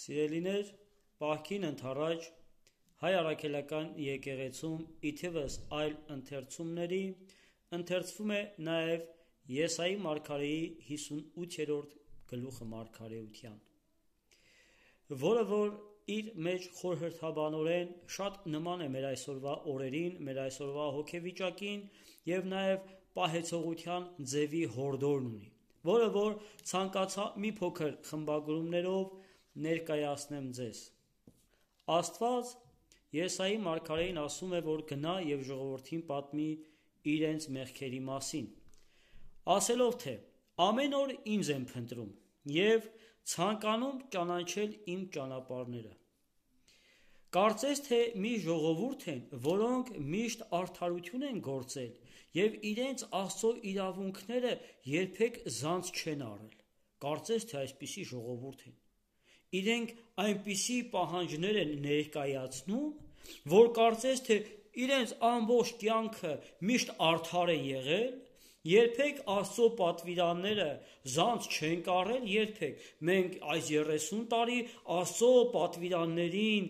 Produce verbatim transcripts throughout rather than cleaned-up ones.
Սիրելիներ, պահքին ընթառաջ հայ առաքելական եկեղեցում իթիվս այլ ընթերցումների ընթերցվում է նաև Եսայի մարգարեի հիսունութերորդ գլուխը մարգարեության, որը որ իր մեջ խորհրդաբանորեն շատ նման է մեր այսօրվա օրերին, մեր այսօրվա հոգեվիճակին և նաև պահեցողության ձևի հորդորն ունի, որը որ ցանկացա մի փոքր խմբագրումներով ներկայացնեմ ձեզ։ Աստված Եսայի մարգարեին ասում է, որ գնա և ժողովրդին պատմի իրենց մեղքերի մասին, ասելով թե ամեն օր ինձ եմ փնտրում և ցանկանում ճանաչել իմ ճանապարհները։ Կարծես թե մի ժողովուրդ են, որոնք միշտ արդարություն են գործել և իրենց Աստծո իրավունքները երբեք զանց չեն առել։ Կարծես թե այսպիսի ժողովուրդ են։ Իրենք այնպիսի պահանջներ են ներկայացնում, որ կարծես թե իրենց ամբողջ կյանքը միշտ արդար են եղել, երբեք Աստծո պատվիրանները զանց չեն կառել, երբեք։ Մենք այս երեսուն տարի Աստծո պատվիրաններին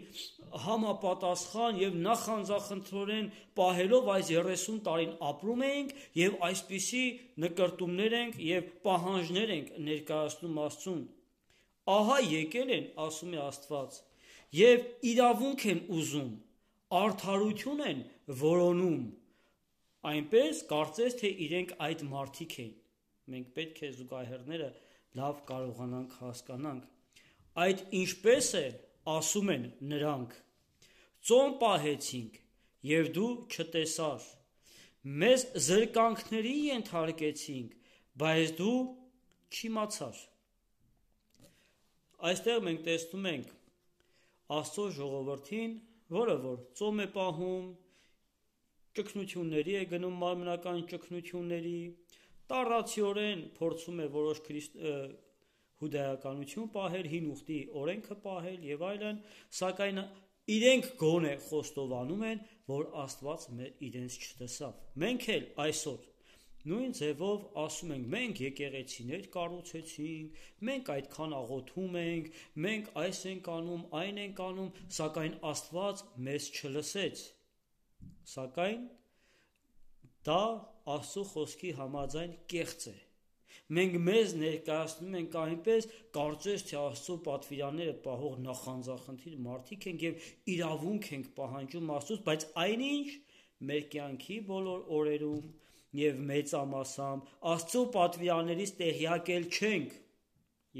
համապատասխան և նախանձախնդրորեն պահելով այս երեսուն տարին ապրում ենք և այսպիսի նկրտումներ ենք և պահանջներ ենք ներկայացնում Աստծուն։ Ահա եկել են, ասում է Աստված, և իրավունք են ուզում, արդարություն են որոնում, այնպես կարծես թե իրենք այդ մարդիկ են։ Մենք պետք է զուգահեռները լավ կարողանանք հասկանանք։ Այդ ինչպես է, ասում են նրանք. ծոմ պահեցինք և դու չտեսար, մեզ զրկանքների ենթարկեցինք, բայց դու չիմացար։ Այստեղ մենք տեսնում ենք Աստծո ժողովրդին, որը որ ծոմ է պահում, ճգնությունների է գնում, մարմնական ճգնությունների, տառացիորեն փորձում է որոշ քրիստ... հուդայականություն պահել, հին ուխտի օրենքը պահել և այլն, սակայն իրենք գոնե խոստովանում են, որ Աստված իրենց չտեսավ։ Մենք էլ այսօր նույն ձևով ասում ենք, մենք եկեղեցիներ կառուցեցինք, մենք այդքան աղոթում ենք, մենք այս ենք անում, այն ենք անում, սակայն Աստված մեզ չլսեց։ Սակայն դա Աստծո խոսքի համաձայն կեղծ է։ Մենք մեզ ներկայացնում ենք այնպես, կարծես թե Աստծո պատվիրանները պահող նախանձախնդիր մարդիկ ենք և իրավունք ենք պահանջում Աստծուց, բայց այնինչ մեր կյանքի բոլոր օրերում և մեծամասամբ Աստծո պատվիրաններից տեղյակ էլ չենք,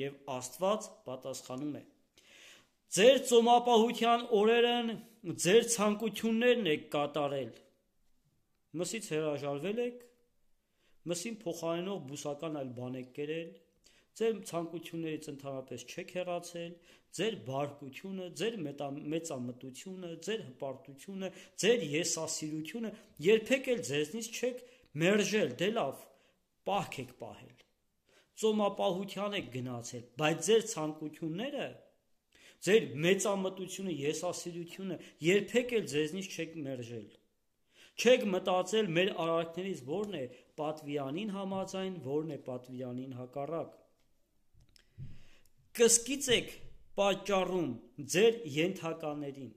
և Աստված պատասխանում է. ձեր ծոմապահության օրերն ձեր ցանկություններն եք կատարել։ Մսից հրաժարվել եք, մսին փոխարինող բուսական այլ բան եք կերել, ձեր ցանկություններից ընդհանրապես չեք հեռացել, ձեր բարկությունը, ձեր մեծամտությունը, ձեր հպարտությունը, ձեր եսասիրությունը երբեք էլ ձեզնից չեք մերժել, դե լավ, պահք եք պահել, ծոմապահության եք գնացել, բայց ձեր ցանկությունները, ձեր մեծամտությունը, եսասիրությունը երբեք էլ ձեզնից չեք մերժել։ Չեք մտածել մեր արարքներից որն է պատվիրանին համաձայն, որն է պատվիրանին հակառակ։ Կսկիծ եք պատճառում ձեր ենթականերին,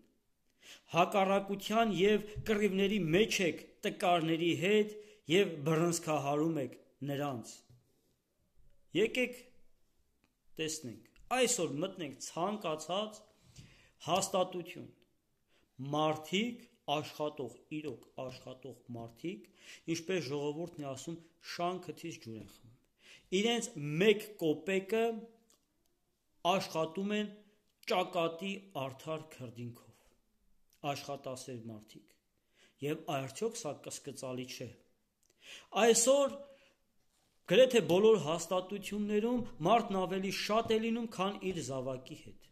հակառակության և կռիվների մեջ եք տկարների հետ և բռնցքահարում եք նրանց։ Եկեք տեսնենք, այսօր մտնենք ցանկացած հաստատություն, մարդիկ աշխատող, իրոք աշխատող մարդիկ, ինչպես ժողովուրդն է ասում, շան քթից ջուր են խմում, իրենց մեկ կոպեկը աշխատում են ճակատի արդար քրդինքով, աշխատասեր մարդիկ, և արդյոք սա կասկածալի չէ։ Այսօր գրեթե բոլոր հաստատություններում մարդն ավելի շատ է լինում, քան իր զավակի հետ։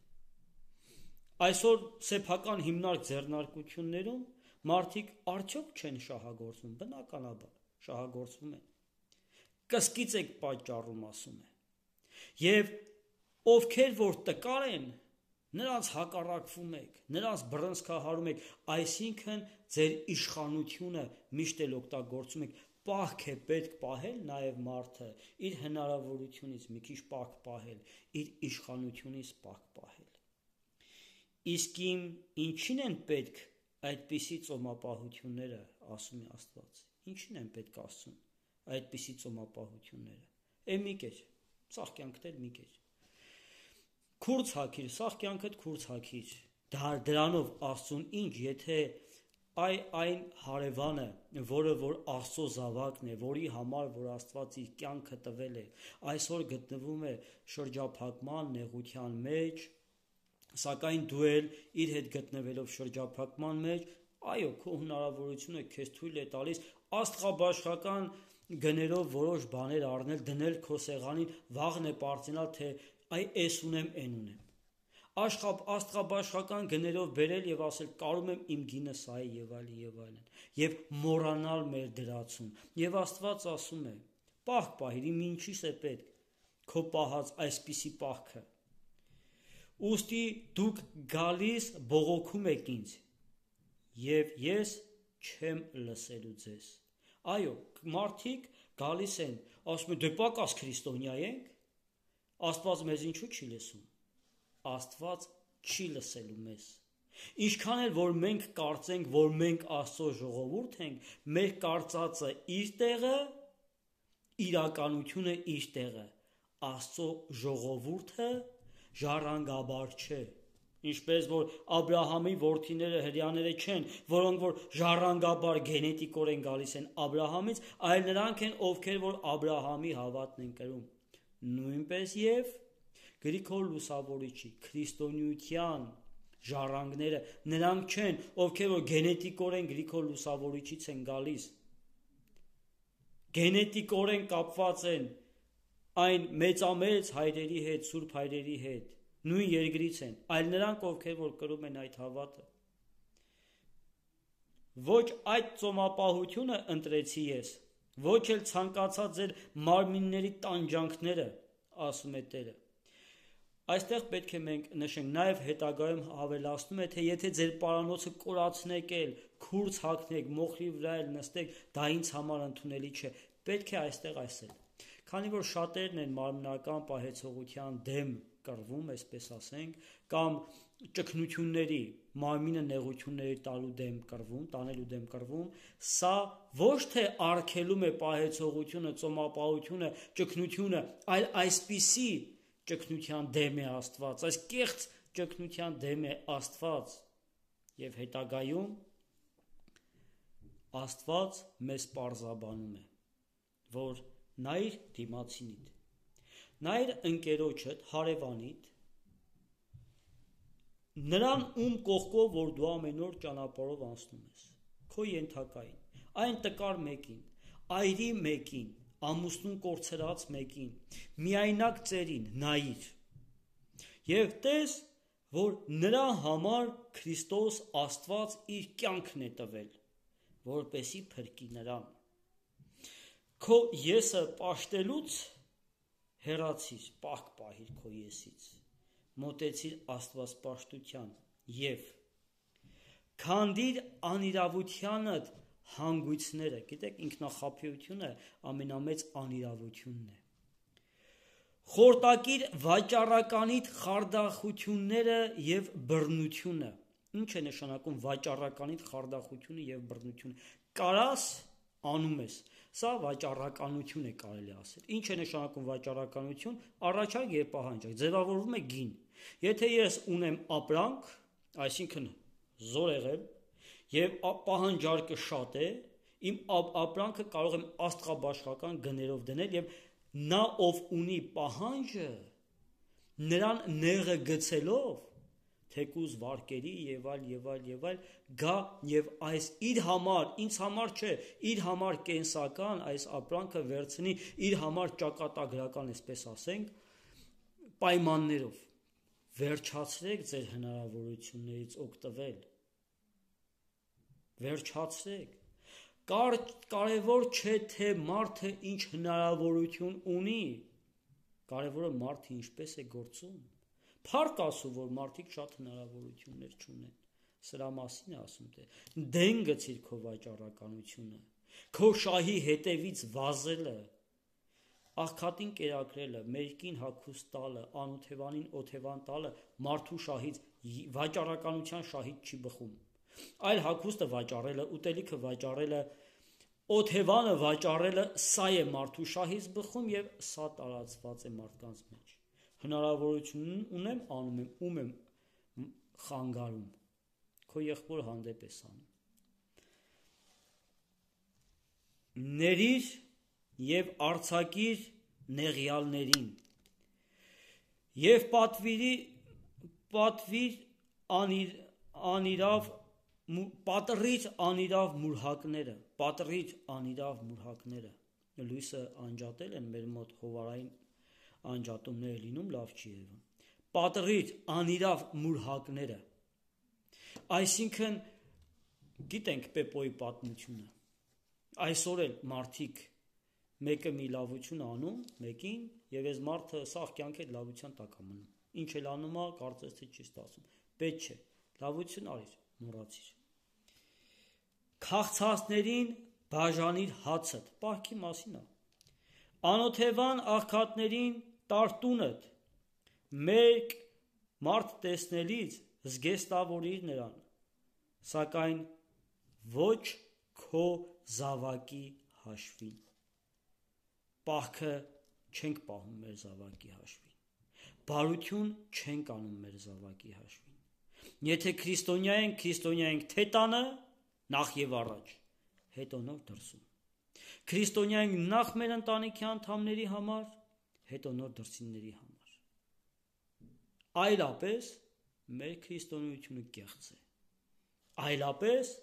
Այսօր սեփական հիմնարկ ձեռնարկություններում մարդիկ արդյոք չեն շահագործվում, բնականաբար շահագործվում են։ Կսկիծ եք պատճառում, ասում է, և ովքեր որ տկար են, նրանց հակառակվում եք, նրանց բռնցքահարում եք, այսինքն ձեր իշխանությունը միշտ էլ օգտագործում եք, պահք է պետք պահել նաև մարդը, իր հնարավորությունից մի քիչ պահք պահել, իր իշխանությունից պահք պահել։ Իսկ իմ ինչին են պետք այդպիսի ծոմապահությունները, ասում է Աստված, ինչին են պետք ասում այդպիսի ծոմապահությունները, է մի կեր, սաղ կյանքդ էլ մի կեր, քուրց հագիր, սաղ կյանքդ քուրց հագիր, դրանով Աստծուն ինչ, եթե այ այն հարևանը, որը որ Աստծո զավակն է, որի համար որ Աստված իր կյանքը տվել է, այսօր գտնվում է շրջափակման, նեղության մեջ, սակայն դու էլ իր հետ գտնվելով շրջափակման մեջ, այո, քո հնարավորությունը քեզ թույլ է տալիս աստղաբաշխական գներով որոշ բաներ առնել, դնել քո սեղանին, վաղն է պարծենալ, թե այ էս ունեմ, են ունեմ։ Աստղաբաշխական գներով բերել եւ ասել կարում եմ իմ գինը սա է եւ այլն եւ այլն եւ մոռանալ մեր դրացում եւ Աստված ասում է պահք պահիր իմ ինչիս է պետք քո պահած այսպիսի պահքը ուստի դուք գալիս բողոքում եք ինձ եւ ես չեմ լսելու ձեզ այո մարդիկ գալիս են ասում են դե պակաս քրիստոնյա ենք Աստված մեզ ինչու չի լսում Աստված չի լսելու մեզ ինչքան էլ որ մենք կարծենք որ մենք Աստծո ժողովուրդ ենք մեր կարծածը իր տեղը իրականությունը իր տեղը Աստծո ժողովուրդը ժառանգաբար չէ ինչպես որ Աբրահամի որդիները հրյաները չեն որոնք որ ժառանգաբար գենետիկորեն գալիս են Աբրահամից այլ նրանք են ովքեր որ Աբրահամի հավատն են կրում նույնպես եւ Գրիգոր Լուսավորիչի քրիստոնեության ժառանգները նրանք չեն ովքեր որ գենետիկորեն Գրիգոր Լուսավորիչից են գալիս գենետիկորեն կապված են այն մեծամեծ հայրերի հետ սուրբ հայրերի հետ նույն երկրից են այլ նրանք ովքեր որ կրում են այդ հավատը ոչ այդ ծոմապահությունը ընտրեցի ես ոչ էլ ցանկացած ձեր մարմինների տանջանքները ասում է Տերը Այստեղ պետք է մենք նշենք, նաև հետագայում հավելացնում է, թե եթե ձեր պարանոցը կորացնեք էլ, քուրց հագնեք, մոխրի վրա էլ նստեք, դա ինձ համար ընդունելի չէ, պետք է այստեղ այսել։ Քանի որ շատերն են մարմնական պահեցողության դեմ կռվում, այսպես ասենք, կամ ճգնությունների, մարմինը նեղությունների տալու դեմ կռվում, տանելու դեմ կռվում, սա ոչ թե արգելում է պահեցողությունը, ծոմապահությունը, ճգնությունը, այլ այսպիսի ճգնության դեմ է Աստված, այս կեղծ ճգնության դեմ է Աստված եւ հետագայում Աստված մեզ պարզաբանում է, որ նայր դիմացինիդ, նայր ընկերոջդ, հարևանիդ, նրան ում կողքով, որ դու ամեն օր ճանապարհով անցնում ես, քո ենթակային, այն տկար մեկին, այրի մեկին, ամուսնուն կորցրած մեկին, միայնակ ծերին նայիր եւ տես, որ նրա համար Քրիստոս Աստված իր կյանքն է տվել, որպեսի փրկի նրան։ Քո եսը պաշտելուց հեռացիր, պահք պահիր քո եսից, մոտեցիր Աստվածպաշտության եւ քանդիր անիրավությանդ հանգույցները, գիտեք, ինքնախաբեությունը ամենամեծ անիրավությունն է։ Խորտակիր վաճառականիդ խարդախությունները եւ բռնությունը։ Ինչ է նշանակում վաճառականիդ խարդախությունը եւ բռնությունը։ Կարաս անում ես։ Սա վաճառականություն է կարելի ասել։ Ինչ է նշանակում վաճառականություն։ Առաջարկ եւ պահանջարկ ձևավորվում է գին։ Եթե ես ունեմ ապրանք, այսինքն զորեղ եմ, եւ պահանջարկը շատ է, իմ ապրանքը կարող եմ աստղաբաշխական գներով դնել եւ նա ով ունի պահանջը նրան նեղը գցելով թեկուզ վարկերի եւ այլ եւ այլ եւ այլ գա եւ այս իր համար, ինձ համար չէ, իր համար կենսական այս ապրանքը վերցնի իր համար ճակատագրական, այսպես ասենք, պայմաններով վերջացրեք ձեր հնարավորություններից օգտվել Վերջացրեք, Կար, կարևոր չէ, թե մարդը ինչ հնարավորություն ունի, կարևորը մարդը ինչպես է գործում, փառք ասու, որ մարդիկ շատ հնարավորություններ չունեն, սրա մասին է ասում, թե դեն գցիր քո վաճառականությունը, քո շահի հետևից վազելը, աղքատին կերակրելը, մերկին հագուստ տալը, անօթևանին օթևան տալը մարդու շահից վաճառականության շահից չի բխում, այլ հագուստը վաճառելը, ուտելիքը վաճառելը, օթևանը վաճառելը սա է մարդու շահից բխում եւ սա տարածված է մարդկանց մեջ։ Հնարավորություն ունեմ, անում եմ, ում եմ խանգարում, քո եղբոր հանդեպ ես անում։ Ներիր եւ արցակիր նեղյալներին եւ պատվիրի պատվիր անիր անիրավ պատռիր անիրավ մուրհակները պատռիր անիրավ մուրհակները լույսը անջատել են մեր մոտ հովարային անջատումները լինում լավ չի երևում պատռիր անիրավ մուրհակները այսինքն գիտենք Պեպոյի պատմությունը այսօր էլ մարդիկ մեկը մի լավություն անում մեկին եւ այս մարդը սաղ կյանքի լավության տակ է մնում ինչ էլ անում է կարծես թե չի ստացվում պետք չէ լավություն արիր մոռացիր քաղցածներին բաժանիր հացդ պահքի մասին է անօթևան աղքատներին տարտունդ մեկ մարդ տեսնելիս զգեստավորիր նրան սակայն ոչ քո զավակի հաշվին պահքը չենք պահում մեր զավակի հաշվին բարություն չենք անում մեր զավակի հաշվին եթե քրիստոնյա ենք քրիստոնյա ենք թե տանը նախ եւ առաջ հետո նոր դրսում քրիստոնյա ենք նախ մեր ընտանիքի անդամների համար հետո նոր դրսինների համար այլապես մեր քրիստոնեությունը կեղծ է այլապես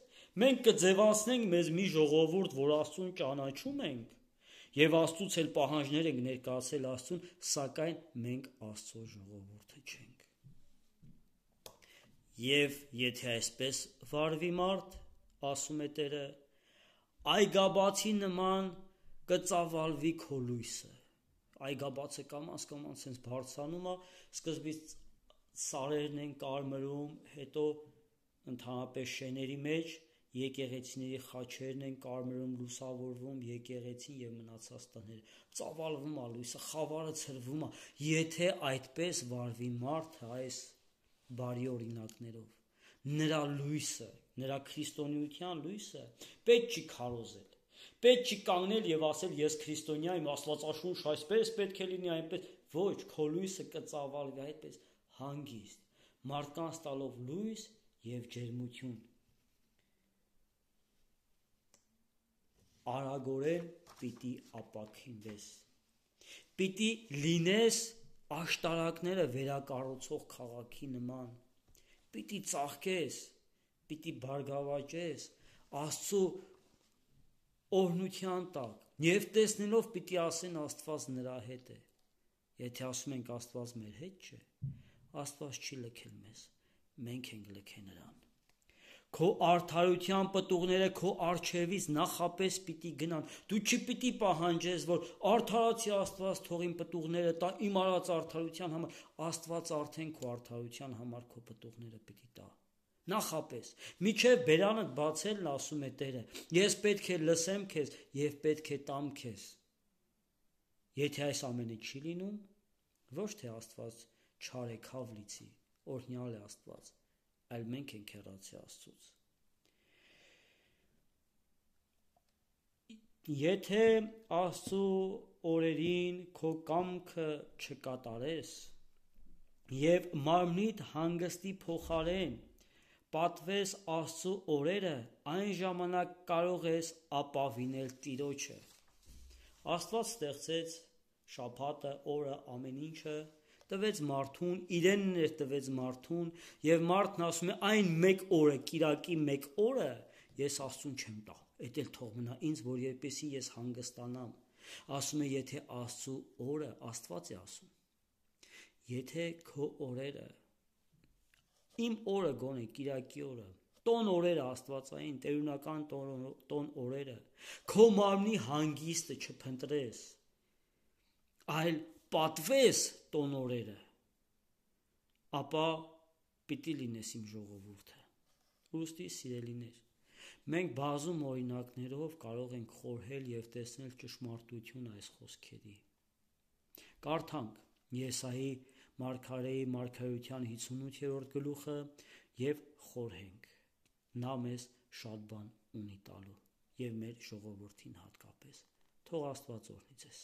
մենք կձևացնենք մեզ մի ժողովուրդ, որ Աստծուն ճանաչում ենք եւ Աստծուց էլ պահանջներ ենք ներկայացել Աստծուն, սակայն մենք Աստծո ժողովուրդը չենք։ Եվ եթե այսպես վարվի մարդ, ասում է Տերը, այգաբացի նման կծավալվի քո լույսը։ Այգաբացը կամաց կամաց sense բարձրանում է, սկզբից սարերն են կարմրում, հետո ընդհանրապես շեների մեջ եկեղեցիների խաչերն են կարմրում, լուսավորվում, եկեղեցին եւ մնացած տները, ծավալվում է լույսը, խավարը ցրվում է, եթե այդպես վարվի մարդը այս բարի օրինակներով, նրա լույսը, նրա քրիստոնեության լույսը պետք չի քարոզել, պետք չի կանգնել եւ ասել ես քրիստոնյա եմ, Աստվածաշունչ այսպես պետք է լինի, այնպես, ոչ, քո լույսը կծավալվի այդպես հանգիստ, մարդկանց տալով լույս եւ ջերմություն արագորեն պիտի ապաքինվես, պիտի լինես աշտարակները վերակառուցող քաղաքի նման, պիտի ծաղկես, պիտի բարգավաճես Աստծո օրհնության տակ, եւ տեսնելով պիտի ասեն Աստված նրա հետ է, եթե ասում ենք Աստված մեր հետ չէ, Աստված չի լքել մեզ, մենք ենք լքել նրան, քո արդարության պտուղները քո արջևից նախապես պիտի գնան, դու չպիտի պահանջես, որ արդարացի Աստված թող իմ պտուղները տա իմ արած արդարության համար, Աստված արդեն քո արդարության համար քո պտուղները պիտի տա, նախապես, միջև բերանդ բացելն ասում է Տերը, ես պետք է լսեմ քեզ եւ պետք է տամ քեզ, եթե այս ամենը չի լինում, ոչ թե Աստված չար է քավ լիցի, օրհնյալ է Աստված, այլ մենք ենք հեռացի Աստծուց։ Եթե Աստծու օրերին քո կամքը չկատարես եւ մարմնիդ հանգստի փոխարեն պատվես Աստծու օրերը, այն ժամանակ կարող ես ապավինել Տիրոջը։ Աստված ստեղծեց շաբաթը, օրը, ամեն ինչը տվեց մարդուն, իրենն էր տվեց մարդուն եւ մարդն ասում է այն մեկ օրը, կիրակի մեկ օրը ես Աստծուն չեմ տա, էդ էլ թող մնա ինձ, որ երբեսի ես հանգստանամ, ասում է եթե Աստծու օրը, Աստված է ասում, եթե քո օրերը, իմ օրը գոնե, կիրակի օրը, տոն օրերը աստվածային, տերունական տոն, տոն օրերը, քո մարմնի հանգիստը չփնտրես, այլ պատվես տոն օրերը, ապա պիտի լինես իմ ժողովուրդը, ուստի սիրելիներ, մենք բազում օրինակներով կարող ենք խորհել և տեսնել ճշմարտություն այս խոսքերի, Կարդանք Եսայի մարգարեի մարգարեության հինգսունութերորդ գլուխը և խորհենք։ Նա մեզ շատ բան ունի տալու և մեր ժողովրդին հատկապես։ Թող Աստված օրհնի ձեզ։